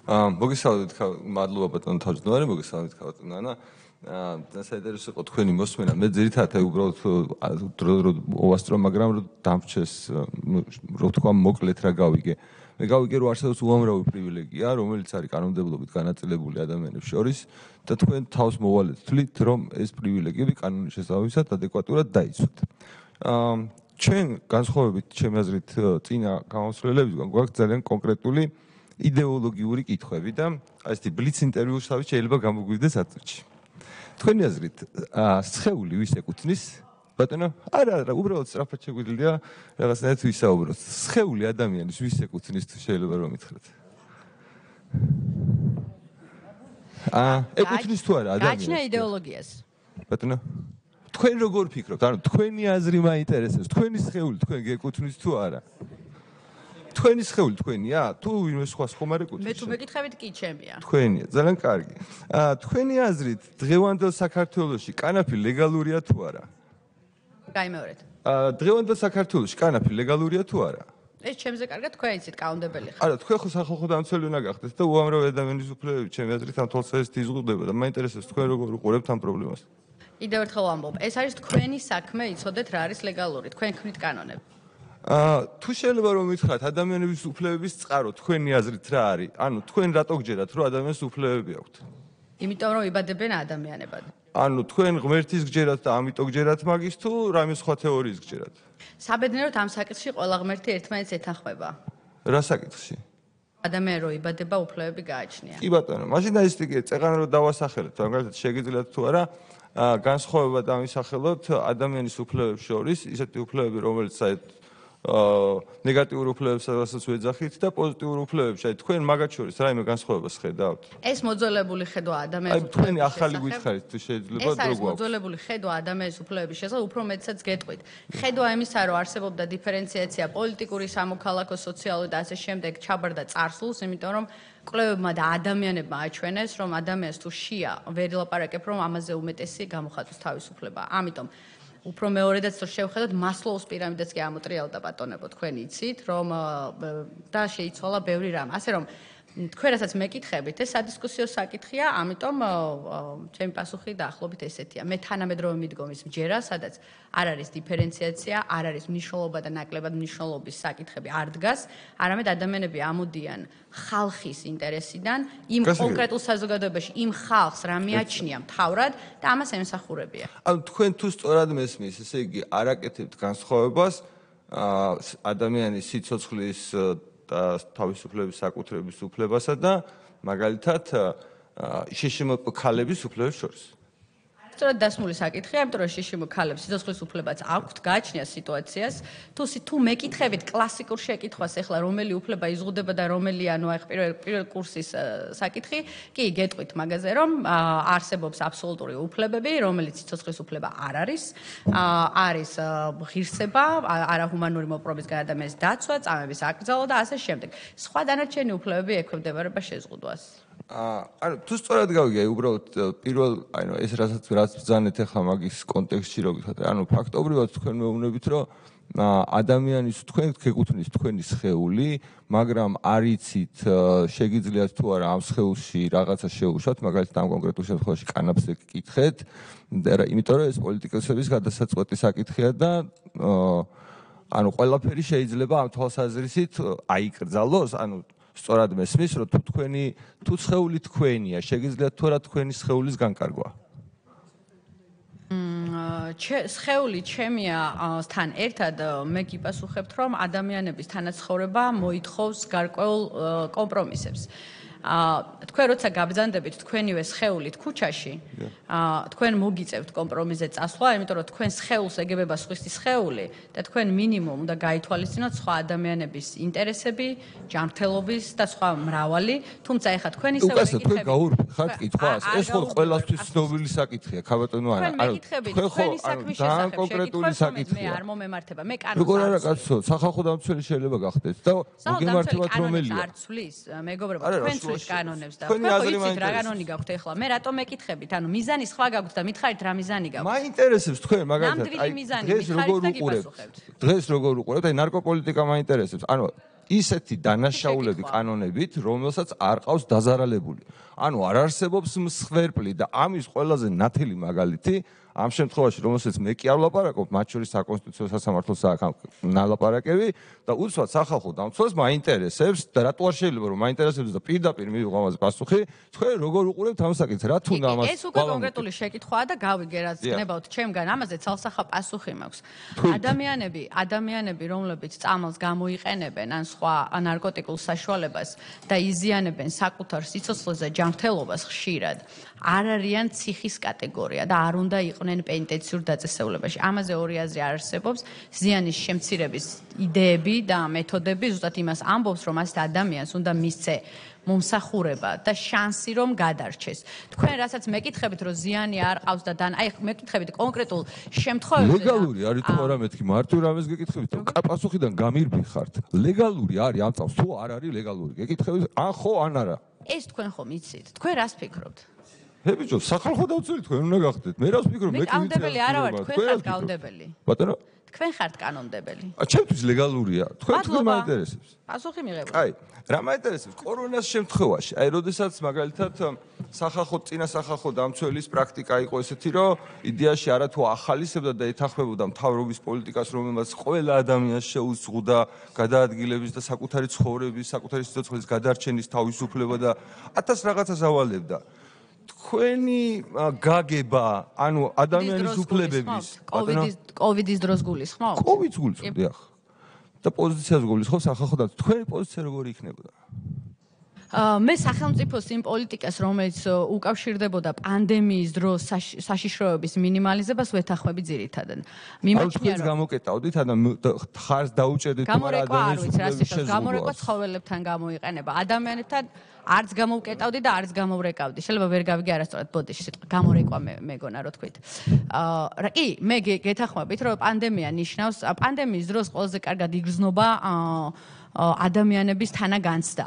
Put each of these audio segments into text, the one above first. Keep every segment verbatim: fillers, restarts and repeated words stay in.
მოგესალმებით, მადლობა ბატონო თავმჯდომარე, მოგესალმებით ბატონო ანა. და საინტერესო იყო თქვენი მოსმენა. მე ძირითადად აი უბრალოდ დრო დრო მოვასწრო, მაგრამ რომ დამრჩეს, რო თქვა მოკლედ რა გავიგე. მე გავიგე რომ არსებობს უამრავი პრივილეგია, რომელიც არის კანონმდებლობით განაწილებული ადამიანებს შორის და თქვენ თავს მოვალეთ თვლით, რომ ეს პრივილეგიები კანონის შესაბამისად ადეკვატურად დაიცვათ. ჩვენ განსხვავებით ჩემი აზრით წინა გამოსვლებებისგან გვაქვს ძალიან კონკრეტული იდეოლოგიური კითხვები და აი ესეთი ბლიც ინტერვიუშავით შეიძლება გამოგვივიდეს აწრჩი. თქვენი აზრით, სხეული ვის ეკუთვნის? ბატონო, არა, არა, უბრალოდ სწრაფად შეგვიძლია რაღაცნაირად ვისაუბროთ. სხეული ადამიანის ვის ეკუთვნის თუ შეიძლება რომ მითხრათ? აა, ეკუთვნის თუ არა ადამიანს? გაჩნია იდეოლოგიას. ბატონო, თქვენ როგორ ფიქრობთ? ანუ თქვენი აზრი მაინტერესებს. თქვენი სხეული თქვენ გეკუთვნის თუ არა? თქვენი სხეული თქვენია? თუ ვინმე სხვა ხომ არ ეკუთვნის? მე თუ მეკითხებით კი ჩემია. თქვენია, ძალიან კარგი. აა, თქვენი აზრით, დღევანდელ საქართველოში კანაფი ლეგალურია თუ არა? გაიმეორეთ. აა, დღევანდელ საქართველოში კანაფი ლეგალურია თუ არა? ეს ჩემზე კარგად თქვენ იცით კაუნდებელი ხარ. არა, თქვენ ხო სახალხო დამცველი უნდა გახდეთ და უამრავი ადამიანის უფლებები ჩემი აზრით ამ თვალსაზრისით იზღუდება და მაინტერესებს თქვენ როგორ უყურებთ ამ პრობლემას. კიდევ ერთხელ ვამბობ, ეს არის თქვენი საქმე იცოდეთ რა არის ლეგალური, თქვენ ქმნით კანონები. აა, თუ შეიძლება რომ მითხრათ ადამიანების უფლებების წყარო თქვენი აზრით რა არის? ანუ თქვენ რატო გჯერათ რომ ადამიანს უფლებები აქვთ? იმიტომ რომ იბადებენ ადამიანებად. ანუ თქვენ ღმერთის გჯერათ და ამიტომ გჯერათ მაგის თუ რამე სხვა თეორიის გჯერათ? საბედნიეროდ ამ საკითხში ყველა ღმერთი ერთმანეთს ეთანხმება. რა საკითხში? ადამიანი რო იბადება, უფლებები გააჩნია. კი ბატონო, მაშინ და ის ტიპი წეღან რო დავასახელეთ, მაგალითად შეგიძლიათ თუ არა განსხვავება დამისახელოთ ადამიანის უფლებებს შორის, ისეთი უფლებები, რომელიც საერთოდ აა ნეგატიურ უფლებებსაც ვეძახით და პოზიტიურ უფლებებს, აი თქვენ მაგათ შორის რაიმე განსხვავებას ხედავთ? ეს მოძველებული ხედვა ადამიანის უფლებების. აი თქვენი ახალი გითხარით თუ შეიძლება ეს არის როგორ მოძველებული ხედვა ადამიანის უფლებების შესახებ, უფრო მეტსაც გეტყვით. ხედვა იმისა, რომ არსებობდა დიფერენციაცია პოლიტიკური, სამოქალაქო, სოციალური და ასე შემდეგ ჩაბარდა წარსულს, იმიტომ რომ კვლევებმა და ადამიანებმა აჩვენეს, რომ ადამიანს თუ შია, ვერ ილაპარაკებ, რომ ამაზე უმეტესი გამოხატვის თავისუფლება. ამიტომ უფრო მეორედაც რო შევხედოთ მასლოუს პირამიდას კი ამოტრიალდა ბატონებო თქვენ იცით რომ და შეიცვალა ბევრი რამ ასე რომ თქვენ რასაც მეკითხებით ეს სადისკუსიო საკითხია ამიტომ ჩემი პასუხი დაახლოებით ესეთია მე თანამედროვე მიდგომის მჯერა სადაც არ არის დიფერენციაცია არ არის მნიშვნელობა და ნაკლებად მნიშვნელობის საკითხები არ დგას არამედ ადამიანები ამოდიან ხალხის ინტერესიდან იმ კონკრეტულ საზოგადოებაში იმ ხალხს რა მიაჩნია მთავრად და ამას ემსახურებია ანუ თქვენ თუ სწორად მესმის ესე იგი არ აკეთებთ განსხვავებას ადამიანის სიცოცხლის და თავისუფლების საკუთრების უფლებასა და მაგალითად შშმპ ქალების უფლებებს შორის. სწორად დასმული საკითხია, იმიტომ რომ შშმპ ქალებს სიცოცხლის უფლებაც აქვთ, გააჩნია სიტუაციას. თუ თუ მეკითხებით კლასიკურ შეკითხვას, ეხლა რომელი უფლება იზღუდება და რომელი ანუ აი პირველ პირველ კურსის საკითხი, კი გეტყვით მაგაზე, რომ არსებობს აბსოლუტური უფლებები, რომელიც სიცოცხლის უფლება არ არის. არის ღირსება, არაჰუმანური მოპყრობის ადამიანის დაცვა, წამების აკრძალვა და ასე შემდეგ. სხვა დანარჩენი უფლებები ექვემდებარება შეზღუდვას. ანუ თუ სწორად გავიგე, უბრალოდ პირველ, ანუ ეს რასაც რაც ბრძანეთ ახლა მაგის კონტექსტში რო გითხრათ, ანუ ფაქტობრივად თქვენ მეუბნებით, რომ ადამიანის თქვენ გეკუთვნის თქვენი სხეული, მაგრამ არ იცით შეგიძლიათ თუ არა ამ სხეულში რაღაცა შეუშვათ, მაგალითად ამ კონკრეტულ შემთხვევაში კანაფს ეკითხეთ, იმიტომ რომ ეს პოლიტიკოსების გადასაწყვეტი საკითხია და ანუ ყველაფერი შეიძლება ამ თვალსაზრისით აიკრძალოს, ანუ სწორად მესმის, რომ თუ თქვენი თუ სხეული თქვენია, შეგიძლიათ თუ არა თქვენი სხეულის განკარგვა? სხეული ჩემია თან ერთად მე გიპასუხებთ, რომ ადამიანების თანაცხოვრება მოითხოვს გარკვეულ კომპრომისებს. თქვენ როცა გაბრძანდებით თქვენივე სხეულით ქუჩაში, თქვენ მოგიწევთ კომპრომისზე წასვლა, იმიტომ რომ თქვენ სხეულს ეგებება სხვისი სხეული და თქვენ მინიმუმ უნდა გაითვალისწინოთ სხვა ადამიანების ინტერესები, ჯანმრთელობის და სხვა მრავალი, თუმცა ეხლა თქვენი სხეული უკაცრავ თქვენ გაურბიხართ კითხვას, ეს ხო ყველასთვის ცნობილი საკითხია, ქაბატონო არა, ანუ თქვენ ხო ძალიან კონკრეტული საკითხია. მე არ მომემართება, მე კანონს როგორ არა კაცო, სახალხო დამცველი შეიძლება გახდეთ და მოგემართებათ რომელია? არ ცვლის, მეგობრებო, თქვენ კანონებს და თქვენ ხო იცით რა კანონი გაქვთ ეხლა მე რატომ მეკითხებით ანუ მიზანი სხვა გაქვთ და მითხარით რა მიზანი გაქვთ მაინტერესებს თქვენ მაგალითად აი დღეს როგორ უყურებთ დღეს როგორ უყურებთ აი ნარკოპოლიტიკა მაინტერესებს ანუ ისეთი დანაშაულები კანონებით, რომელსაც არ ყავს დაზარალებული. ანუ არ არსებობს მსხვერპლი და ამის ყველაზე ნათელი მაგალითი ამ შემთხვევაში, რომელსაც მე კი არ ვლაპარაკობ, მათ შორის საკონსტიტუციო სასამართლო ნალაპარაკები და უცბად სახალხო დამცველს მაინტერესებს და რატო არ შეიძლება რომ მაინტერესებს და პირდაპირ მივიღო ამაზე პასუხი, თქვენ როგორ უყურებთ ამ საკითხს, რა თუნდა ამას? ეს უკვე კონკრეტული შეკითხვაა და გავიგე რაც გნებავთ ჩემგან, ამაზე ცალსახა პასუხი მაქვს. ადამიანები, ადამიანები, რომლებიც წამალს გამოიყენებენ ან სხვა ნარკოტიკულ საშუალებას და იზიანებენ საკუთარ სიცოცხლეზე ჯანმრთელობას ხშირად, არ არიან ციხის კატეგორია და არ უნდა იყვნენ პენიტენციურ დაწესებულებაში. ამაზე ორი აზრი არ არსებობს. ზიანის შემცირების იდეები და მეთოდები ზუსტად იმას ამბობს, რომ ასეთ ადამიანს უნდა მისცე მომსახურება და შანსი რომ გადარჩეს. თქვენ რასაც მეკითხებით, რომ ზიანი არ ყავს და დან, აი მეკითხებით კონკრეტულ შემთხვევებში. ლეგალური არის თუ არა მეთქი, მარტივ რამეს გეკითხებით, რომ პასუხიდან გამირბიხართ. ლეგალური არის ამ წავს თუ არ არის ლეგალური? გეკითხებით, ან ხო, ან არა. ეს თქვენ ხომ იცით? თქვენ რას ფიქრობთ? ჰე ბიჭო, სახალხო დავწერით, თქვენ უნდა გახდეთ. მე რას ვფიქრობ, მე კი ვიცი. კანონმდებელი არა ვარ, თქვენ ხართ კანონმდებელი. ბატონო? თქვენ ხართ კანონმდებელი. ა ჩემთვის ლეგალურია. თქვენ თქვენ მაინტერესებს. პასუხი მიღებული. აი, რა მაინტერესებს კორონას შემთხვევაში? აი, როდესაც მაგალითად სახალხო წინა სახალხო დამცველის პრაქტიკა იყო ესეთი, რომ იდეაში არა თუ ახალისებდა და ეთანხმებოდა მთავრობის პოლიტიკას, რომელმაც ყველა ადამიანს შეუზღუდა გადაადგილების და საკუთარი ცხოვრების, საკუთარი სიცოცხლის გადარჩენის თავისუფლება და ათას რაღაცას ავალებდა. თქვენი გაგება, ანუ ადამიანის უფლებების, კოვიდის კოვიდის დროს გულისხმობთ? კოვიდს გულისხმობ, დიახ. და პოზიციას გულისხმობ სახალხო და თქვენი პოზიცია როგორი იქნებოდა? მე სახელმწიფოს იმ პოლიტიკას, რომელიც უკავშირდებოდა პანდემიის დროს საშიშროების მინიმალიზებას ვეთანხმები ძირითადად. მიმაჩნია რომ გამოკეტავდით, ანუ ხარს დაუჭერდით ადამიანის უფლებების გამორეკვა ცხოველებთან გამოიყენება. ადამიანებთან არც გამოვკეტავდი და არც გამოვრეკავდი. შეიძლება ვერ გავიგე არასწორად ბოდიში სიტყვა გამორეკვა მეგონა რო თქვით. აა კი, მე გეთანხმებით, რომ პანდემია ნიშნავს პანდემიის დროს ყველაზე კარგად იგრძნობა აა ადამიანების თანაგანცდა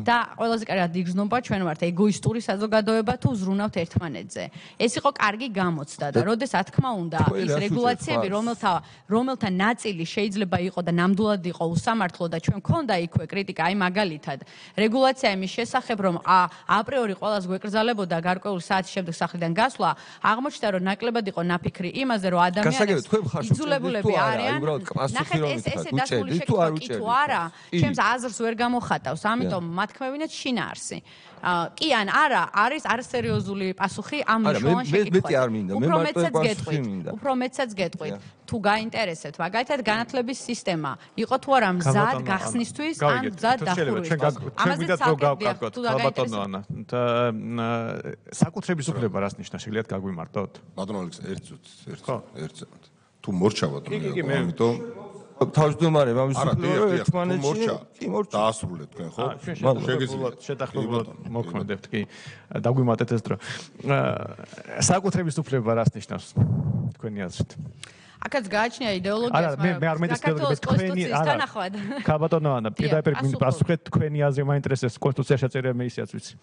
და ყველაზე კარგად იგრძნობა ჩვენ ვართ ეგოისტური საზოგადოება თუ ზრუნავთ ერთმანეთზე. ეს იყო კარგი გამოცდა და როდესაც თქმა უნდა ის რეგულაციები, რომელთა რომელთა ნაწილი შეიძლება იყო და ნამდვილად იყო უსამართლო და ჩვენ მქონდა იქვე კრიტიკა, აი მაგალითად, რეგულაცია იმის შესახებ, რომ აპრიორი ყველას გვეკრძალებოდა გარკვეული საათის შემდეგ სახლიდან გასვლა, აღმოჩნდა, რომ ნაკლებად იყო ნაფიქრი იმაზე, რომ ადამიანებს იძულებულები არიან. ნახეთ, ეს ესე დასული შეკითხვა კი თუ არა ჩემს აზრს ვერ გამოხატავს, ამიტომ მათქმევინეთ შინაარსი. კი ან არა, არის არასერიოზული პასუხი ამ მნიშვნელოვან შეკითხვაზე. უფრო მეცაც გეტყვით, უფრო მეცაც გეტყვით. თუ გაინტერესებთ, მაგალითად განათლების სისტემა იყო თუ არა მზად გახსნისთვის ან მზად დახურვისთვის. ამაზე გავკარგოთ, ბატონო ანა. საკუთრების უფლება რას ნიშნავს? შეგიძლიათ გაგვიმარტოთ? ბატონო ალექს, ერთ წუთს, ერთ წუთს. თუ მორჩავად რომ ამიტომ თავმჯდომარე ამის უფლება ერთმანეთში კი მორჩა დაასრულეთ თქვენ ხო? შეგიძლიათ შეთანხმებულად მოქმედებთ კი დაგვიმატეთ ეს დრო. საკუთრების უფლება რას ნიშნავს თქვენი აზრით? აქაც გააჩნია იდეოლოგიას, მაგრამ მე არ მეტყველებს თქვენი არა. ქაბატონო ანა, პირდაპირ პასუხეთ თქვენი აზრი მაინტერესებს, კონსტიტუციაში შეწერია მე ისეაც ვიცი.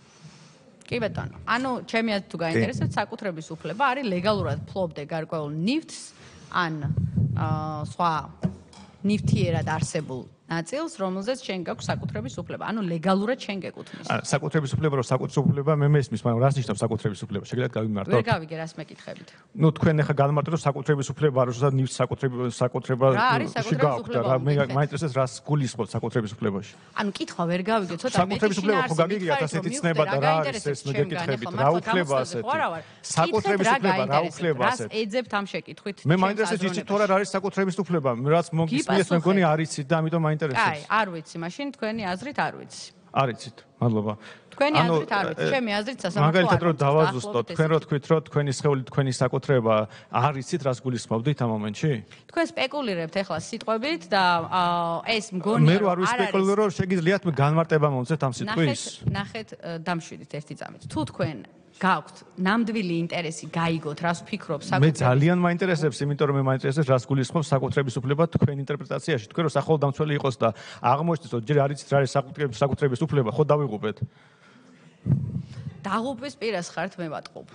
კი ბატონო, ანუ ჩემი აზრით თუ გაინტერესებთ, საკუთრების უფლება არის ლეგალურად ფლობდე გარკვეულ ნივთს ან სხვა ნივთიერად არსებულ ნაწილს, რომელზეც შენ გაქვს საკუთრების უფლება. ანუ ლეგალურად შენ გეკუთვნის. საკუთრების უფლება, რომ საკუთრების უფლება მე მესმის, მაგრამ რას ნიშნავს საკუთრების უფლება? შეგიძლიათ გავიმარტოთ? ვერ გავიგე, რას მეკითხებით. ნუ თქვენ ახლა გამარტოთ, რომ საკუთრების უფლება არის, რომ ნივთს საკუთრების საკუთრება შეგაქვთ და მე მაინტერესებს რას გულისხმობთ საკუთრების უფლებაში. ანუ კითხვა ვერ გავიგე, ცოტა მეტი საკუთრების უფლება ხო გაგიგიათ ასეთი ცნება და რა არის ეს მე გეკითხებით, რა უფლება ასეთი? საკუთრების უფლება რა უფლება ასეთი? რას ეძებთ ამ შეკითხვით? მე მაინტერესებს იცით თუ რა არის საკუთრების უფლება? რაც მოგისმენთ მე მგონი არ იცით და ამიტომ მაინტერესებს. აი, არ ვიცი, მაშინ თქვენი აზრით არ ვიცი. არ იცით, მადლობა. თქვენი აზრით არ ვიცი, ჩემი აზრით სასამართლო. მაგალითად რომ დავაზუსტოთ, თქვენ რო თქვით, რომ თქვენი სხეული თქვენი საკუთრება, არ იცით რას გულისხმობდით ამ მომენტში? თქვენ სპეკულირებთ ახლა სიტყვებით და ეს მგონია მე რო არ ვისპეკულირებ, რომ შეგიძლიათ მე განმარტება მომცეთ ამ სიტყვის. ნახეთ, დამშვიდით ერთი წამით. თუ თქვენ გაქვთ ნამდვილი ინტერესი გაიგოთ, რას ვფიქრობ საკუთრების. მე ძალიან მაინტერესებს, იმიტომ რომ მე მაინტერესებს, რას გულისხმობს საკუთრების უფლება თქვენ ინტერპრეტაციაში. თქვენ რო სახალხო დამცველი იყოს და აღმოჩნდეს, რომ ჯერ არ იცით რა არის საკუთრების უფლება, ხო დავიღუპეთ? დაღუპვის პირას ხართ, მე ვატყობ.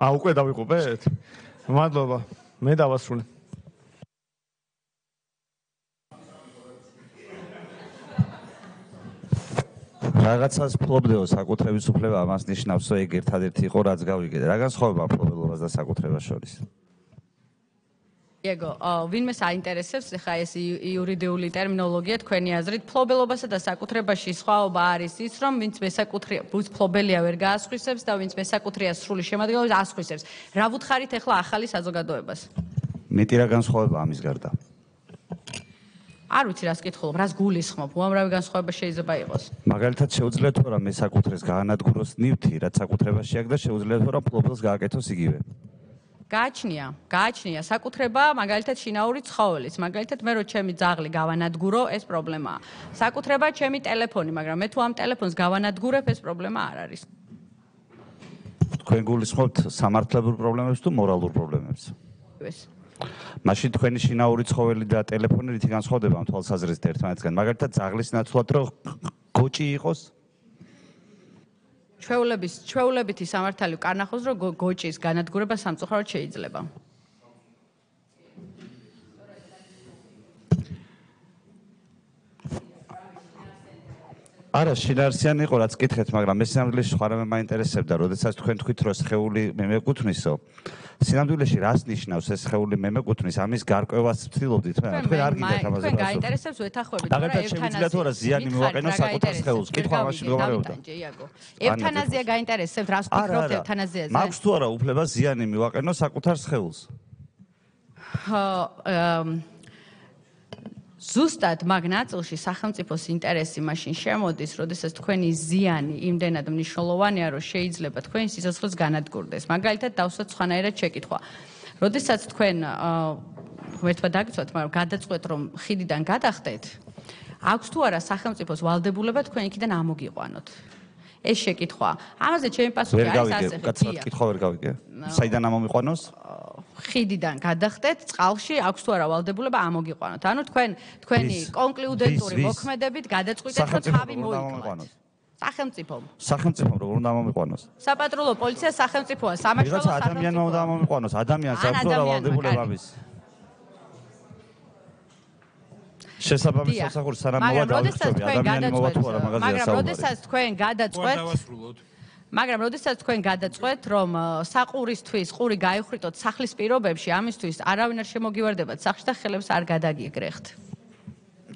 აა, უკვე დავიღუპეთ? მადლობა. მე დავასრულე. რაღაცას ფლობდეო საკუთრების უფლება ამას ნიშნავს, რომ ეგ ერთადერთი იყო რაც გავიგე. რა განსხვავება ფლობელობას და საკუთრებას შორის? იეგო, ვინმე საინტერესებს ხა ეს იურიდიული ტერმინოლოგია თქვენი აზრით, ფლობელობასა და საკუთრებაში სხვაობა არის ის, რომ ვინც მესაკუთრეა, ვინც ფლობელია ვერ გაასხვისებს და ვინც მესაკუთრეა სრული შემადგენლობით ასხვისებს. რა ვუთხარით ახლა ახალი საზოგადოებას? მეტი რა განსხვავება ამის გარდა? არ ვიცი რას კითხულობ, რას გულისხმობ, უამრავი განსხვავება შეიძლება იყოს. მაგალითად შეუძლია თუ რა მესაკუთრეს გაანადგუროს ნივთი, რაც საკუთრებაში აქვს და შეუძლია თუ რა ფლობელს გააკეთოს იგივე. გააჩნია, გააჩნია საკუთრება, მაგალითად შინაური ცხოველის, მაგალითად მე რო ჩემი ძაღლი გავანადგურო, ეს პრობლემაა. საკუთრება ჩემი ტელეფონი, მაგრამ მე თუ ამ ტელეფონს გავანადგურებ, ეს პრობლემა არ არის. თქვენ გულისხმობთ სამართლებრივ პრობლემებს თუ მორალურ პრობლემებს? ეს მაშინ თქვენი შინაური ცხოველი და ტელეფონი რითი განსხვავდება ამ თვალსაზრისით ერთმანეთისგან? მაგალითად ძაღლის ნაცვლად რო გოჭი იყოს? ჩვეულების ჩვეულებითი სამართალი კარნახობს, რომ გოჭის განადგურება სამწუხაროდ შეიძლება. არა, შინაარსიანი იყო, რაც კითხეთ, მაგრამ მე სინამდვილეში სხვა რამე მაინტერესებდა, როდესაც თქვენ თქვით, რომ სხეული მე მეკუთვნისო, სინამდვილეში რას ნიშნავს ეს სხეული მე მეკუთვნის, ამის გარკვევას ვცდილობდით, მე თქვენ არ გიგეთ ამაზე. თქვენ გაინტერესებს ვეთანხმებით, რა შევიძლია თუ რა ზიანი მივაყენო საკუთარ სხეულს, კითხვა ამაში მდგომარეობდა. ევთანაზია გაინტერესებს, რას ვფიქრობთ ევთანაზიაზე? მაქვს თუ არა უფლება ზიანი მივაყენო საკუთარ სხეულს? ზუსტად მაგ ნაწილში სახელმწიფოს ინტერესი მაშინ შემოდის, როდესაც თქვენი ზიანი იმდენად მნიშვნელოვანია, რომ შეიძლება თქვენი სიცოცხლეც განადგურდეს. მაგალითად, დავსვათ სხვანაირად შეკითხვა. როდესაც თქვენ ღმერთმა დაგიცვათ, მაგრამ გადაწყვეტ, რომ ხიდიდან გადახტეთ, აქვს თუ არა სახელმწიფოს ვალდებულება თქვენ იქიდან ამოგიყვანოთ. ეს შეკითხვა. ამაზე ჩემი პასუხი არის ასე. კაცად კითხვა ვერ გავიგე. საიდან ამომიყვანოს? ხიდიდან გადახტეთ, წყალში აქვს თუ არა ვალდებულება ამოგიყვანოთ. ანუ თქვენ თქვენი კონკლუდენტური მოქმედებით გადაწყვიტეთ, რომ თავი მოიკლათ. სახელმწიფომ. სახელმწიფომ როგორ უნდა ამომიყვანოს? საპატრულო პოლიცია სახელმწიფოა, სამაშველო სახელმწიფო. ადამიანმა უნდა ამომიყვანოს, ადამიანს აქვს თუ არა ვალდებულება ამის? შესაბამის სამსახური სანამ მოვა დავიწყები, ადამიანი მოვა თუ არა მაგაზია საუბარი. მაგრამ როდესაც თქვენ გადაწყვეტ მაგრამ როდესაც თქვენ გადაწყვეტ, რომ საყურისთვის ყური გაიხრიტოთ სახლის პირობებში, ამისთვის არავინ არ შემოგივარდებათ სახლში და ხელებს არ გადაგიგრეხთ.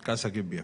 გასაგებია.